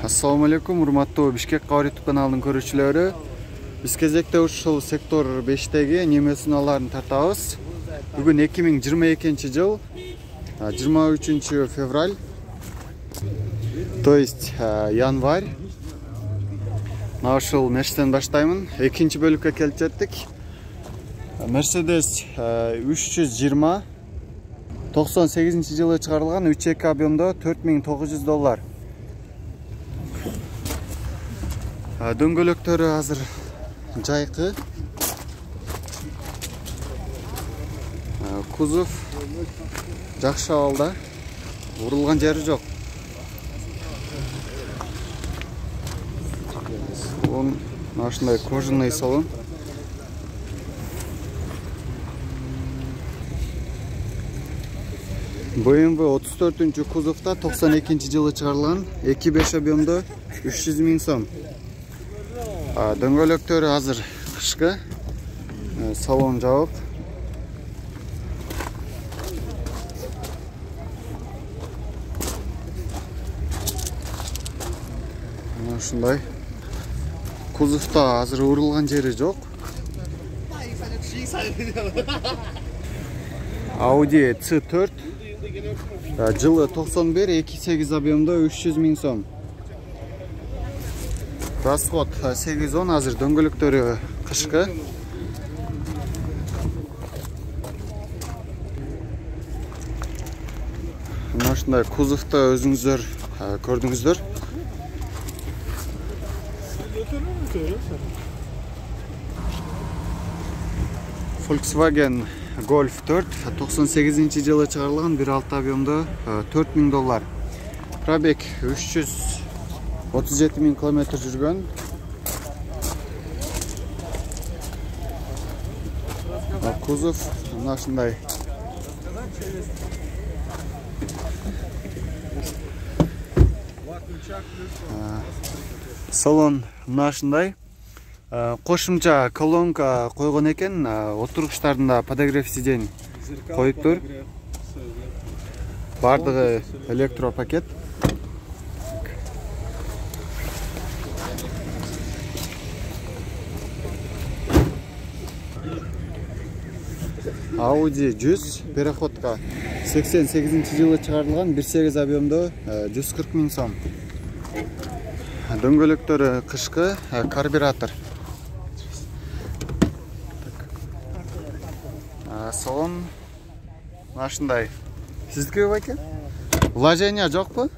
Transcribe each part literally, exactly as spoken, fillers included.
Assalamu alaikum, урматтуу Бишкек Кабар YouTube каналынын көрүүчүлөрү. Биз кезекте ушул сектор бештеги немесуналарын тартабыз. Бүгүн эки миң жыйырма экинчи жыл жыйырма үчүнчү февраль, то есть январь. Мына ушул нерседен баштаймын. Экинчи бөлүккө келип жеттик. Mercedes үч жүз жыйырма токсон сегизинчи жылы чыгарылган үч эки объемдо төрт миң тогуз жүз доллар. Дөңгөлөктөрү азыр жайкы. Кузов жакшы абалда. Урулган жери жок. Салон ушундай кожаный салон. бэ эм вэ отуз төртүнчү кузовда токсон экинчи жылы чыгарылган эки беш объемдо үч жүз миң сом. Дөңгөлөктөрү азыр кышкы. Салон жабык. Мына ушундай. Кузовда азыр урулган жери жок. Audi C төрт жылы токсон бир эки сегиз объемдо үч жүз миң сом. Расход сегиз он, азыр дөңгөлөктөрү кышкы. Мына ушундай кузовду өзүңүздөр көрдүңүздөр. Volkswagen Golf төрт токсон сегизинчи жылы чыгарылган бир алты объемдо төрт миң доллар. Пробег үч жүз отуз жети миң километр жүргөн. Кузов мына ушундай. Салон мына ушундай. Кошумча колонка койгон экен, отургучтарында подогрев сидений коюптур. Бардыгы электропакет. Audi жүз переходка сексен сегизинчи жылы чыгарылган бир сегиз объемдо жүз кырк миң сом. Дөңгөлөктөрү кышкы, карбюратор. Салон мына ушундай. Сиздики байке? Вложение жокпу?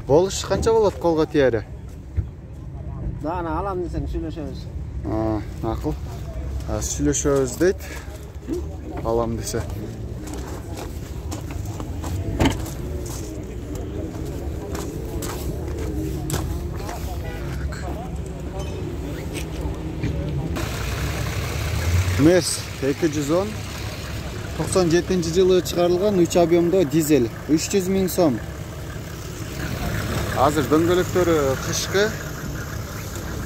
Болуш канча болот колго тиери? Да, ана алам десең сүйлөшөбүз. А, макул. Сүйлөшөбүз дейт. Алам десе. Мерс эки жүз он токсон жетинчи жылы чыгарылган үч объемдо дизель үч жүз миң сом. Азыр дөңгөлөктөрү кышкы.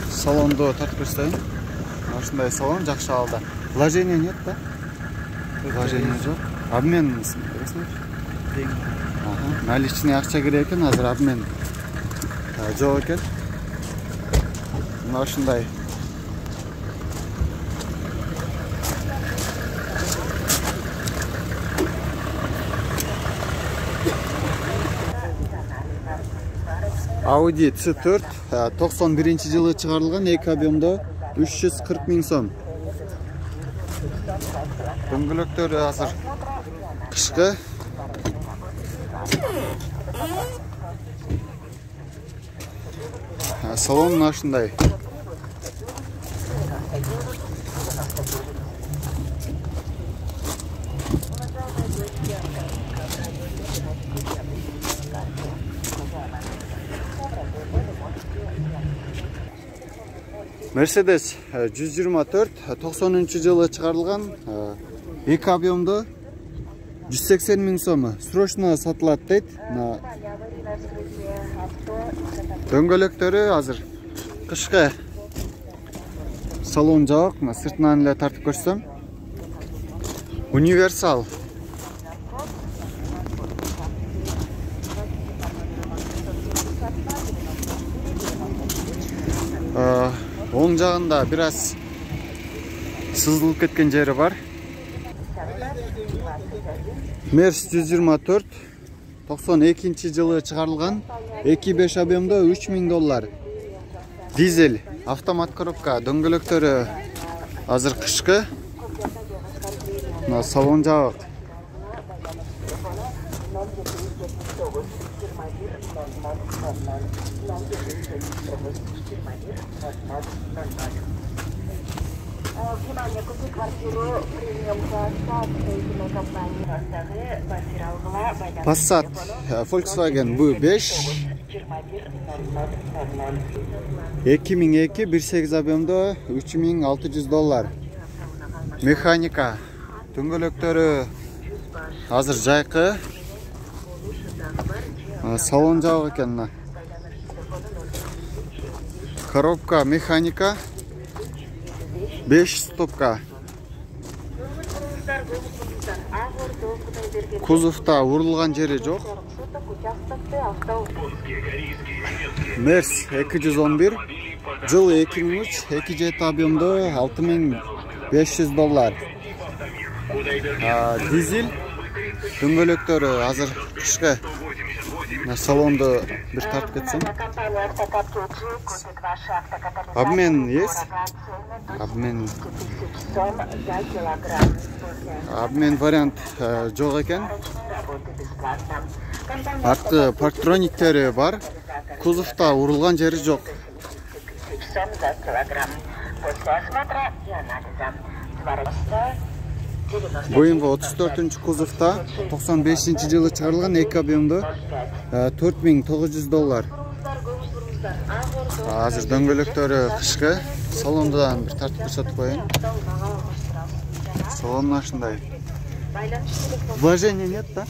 Салондо тартып көрсөтөйүн. Ушундай салон жакшы абалда. Вложение нет, да? Вложение жок. Обмен бересиңер? Ага, наличный акча керек экен, азыр обмен жок экен. Мына ушундай. Audi C төрт токсон биринчи жылы чыгарылган эки объемдо үч жүз кырк миң сом. Дөңгөлөктөрү азыр кышкы. Салон мына ушундай. Mercedes жүз жыйырма төрт токсонунчу жылы чыгарылган эки объемдо жүз сексен миң сом. Срочно сатылат дейт. Дөңгөлөктөрү азыр кышкы. Салон жабык, сыртынан эле тартып көрсөм. Универсал. Оң жагында бир аз сызылып кеткен жери бар. Мерс жүз жыйырма төрт токсон экинчи жылы чыгарылган, эки беш объемдо үч миң доллар. Дизель, автомат коробка, дөңгөлөктөрү азыр кышкы. Мына салон жабык. Внимание, купи квартиру премиум класса от строительной компании Passat, Volkswagen бэ беш эки миң эки бир сегиз объемдо үч миң алты жүз доллар. Механика, дөңгөлөктөрү азыр жайкы. Салон жабык экен. Коробка механика, беш стопка. Кузовта урулган жери жок. Мерс эки жүз он бир, жыл эки миң үч, эки жети объемдо алты миң беш жүз доллар. Дизель, дөңгөлөктөрү азыр кышкы. Салонду бир тартып кетсем. Обмен есть? Обмен. Обмен вариант жок экен. Артты парктрониктери бар. Кузовта урулган жери жок. бэ эм вэ отуз төртүнчү кузовта токсон бешинчи жылы чыгарылган, эки объемдо төрт миң тогуз жүз доллар. Азыр дөңгөлөктөрү кышкы. Салондан бир тартып көрсөтүп коеюн. Салон ушундай. Вложения нет, да?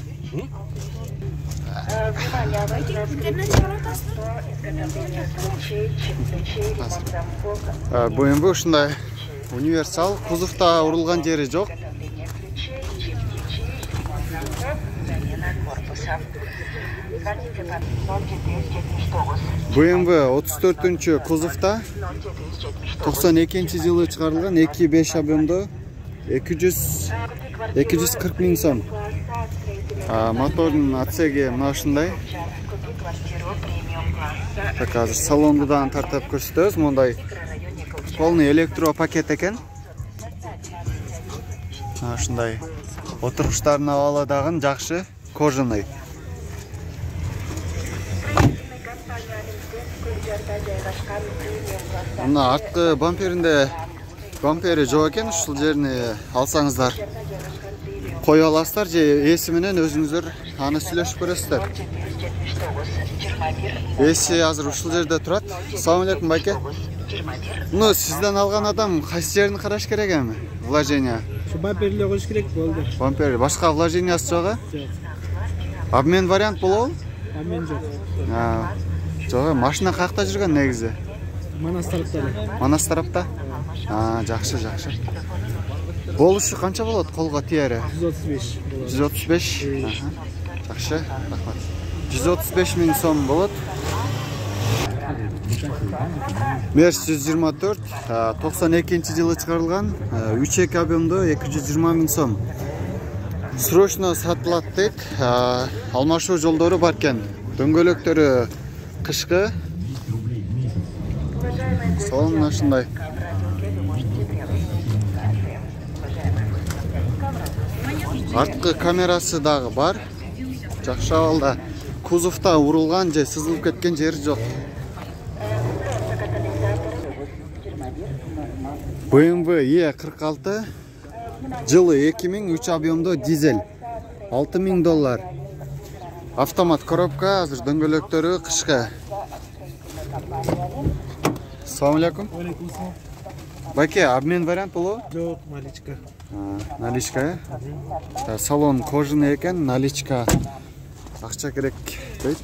бэ эм вэ ушундай универсал, кузовта урулган жери жок. бэ эм вэ отуз төртүнчү кузовта токсон экинчи жылы чыгарылган, эки беш объемдо эки жүз кырк миң сом. Мотордун отсеги мына ушундай. Так, азыр салонду да тартып көрсөтөбүз. Мондай полный электро пакет экен. Ушундай отуруштардын абалы дагы жакшы, кожаный. Мына арткы бамперинде бампери жок экен, ушул жерини алсаңыздар кое аласыздар же эси менен өзүңүздөр аны сүйлөшүп көрөсүздөр. Эси азыр ушул жерде турат. Assalamu alaikum, байке. Ну, сизден алган адам кайсы жерин караш керек эми? Вложение. Şu bamperle koş керек болду. Бампер, башка вложениясы жок? Обмен вариант болобу? Обмен жок. А, жок, машина каякта жүргөн негизи? Манас тарапта. Манас тарапта? А, жакшы, жакшы. Болушу канча болот колго тиери? жүз отуз беш. жүз отуз беш. Жакшы, рахмат. жүз отуз беш миң сом болот. Мерс жүз жыйырма төрт, токсон экинчи жылы чыгарылган, үч эки объемдо эки жүз жыйырма миң сом. Срочно сатылат дейт. Алмашуу жолдору бар экен. Дөңгөлөктөрү кышкы. Салон ушундай. Арткы камерасы дагы бар. Жакшы абалда. Кузовта урулган же сызылып кеткен жери жок. бэ эм вэ е кырк алты, жылы эки миң үч объемдо дизель, алты миң доллар. Автомат коробка, азыр дөңгөлөктөрү кышкы. Assalamu alaikum. Байке, обмен вариант болобу? Жок, наличка. Наличка, э? Салон кожаный экен, наличка акча керек дейт.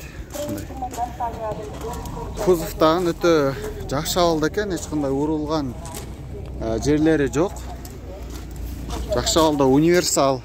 Кузовтагы өтө жакшы абалда экен, эч кандай урулган жерлери жок. Жакшы абалда, универсал.